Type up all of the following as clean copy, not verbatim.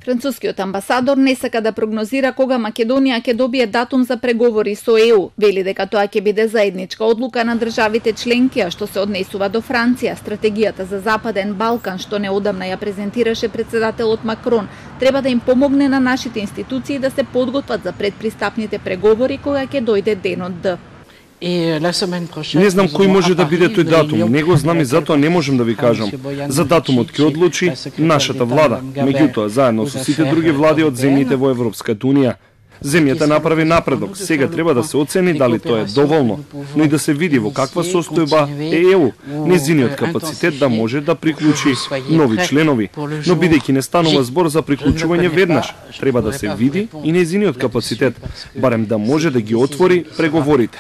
Францускиот амбасадор не сака да прогнозира кога Македонија ќе добие датум за преговори со ЕУ. Вели дека тоа ќе биде заедничка одлука на државите членки, а што се однесува до Франција. Стратегијата за Западен Балкан, што неодамна ја презентираше председателот Макрон, треба да им помогне на нашите институции да се подготват за предпристапните преговори кога ќе дојде денот Д. Не знам кој може да биде тој датум, не го знам и затоа не можем да ви кажам. За датумот ќе одлучи нашата влада, меѓутоа заедно со сите други влади од земјите во Европската унија. Земјата направи напредок, сега треба да се оцени дали тоа е доволно, но и да се види во каква состојба е ЕУ, незиниот капацитет да може да приклучи нови членови, но бидејќи не станува збор за приклучување веднаш, треба да се види и незиниот капацитет, барем да може да ги отвори преговорите.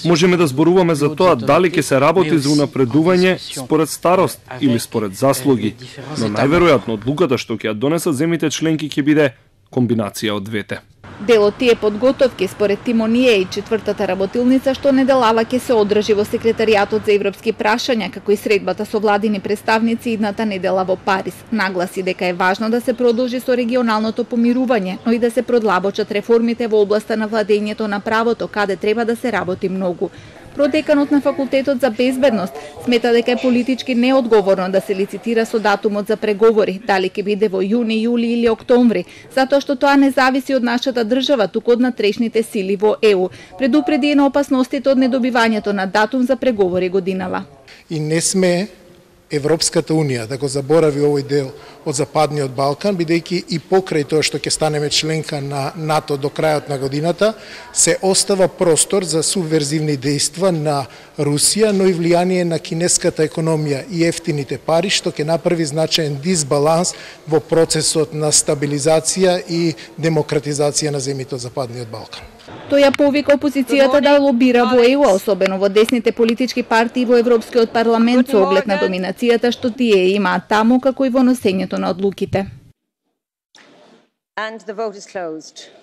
Можеме да зборуваме за тоа дали ќе се работи за унапредување според старост или според заслуги, но најверојатно одлуката што ќе ја донесат земјите членки ќе биде комбинација од двете. Дел од тие подготовки според Тимоние и четвртата работилница што неделава ќе се одржи во секретаријатот за европски прашања, како и средбата со владини представници идната недела во Париз. Нагласи дека е важно да се продолжи со регионалното помирување, но и да се продлабочат реформите во областа на владењето на правото, каде треба да се работи многу. Продеканот на Факултетот за безбедност смета дека е политички неодговорно да се лицитира со датумот за преговори, дали ќе биде во јуни, јули или октомври, затоа што тоа не зависи од нашата држава, туку од натрешните сили во ЕУ. Предупреди на опасностите од недобивањето на датум за преговори годинава. И не сме Европската унија да го заборави овој дел од Западниот Балкан, бидејќи и покрај тоа што ќе станеме членка на НАТО до крајот на годината, се остава простор за субверзивни дејства на Русија, но и влијание на кинеската економија и ефтините пари, што ќе направи значаен дисбаланс во процесот на стабилизација и демократизација на земјите од Западниот Балкан. Тој ја повика опозицијата да лобира во ЕУ, особено во десните политички партии во Европскиот парламент со оглед на доминацијата што тие имаат таму, како и во носењето на одлуките. And the vote is closed.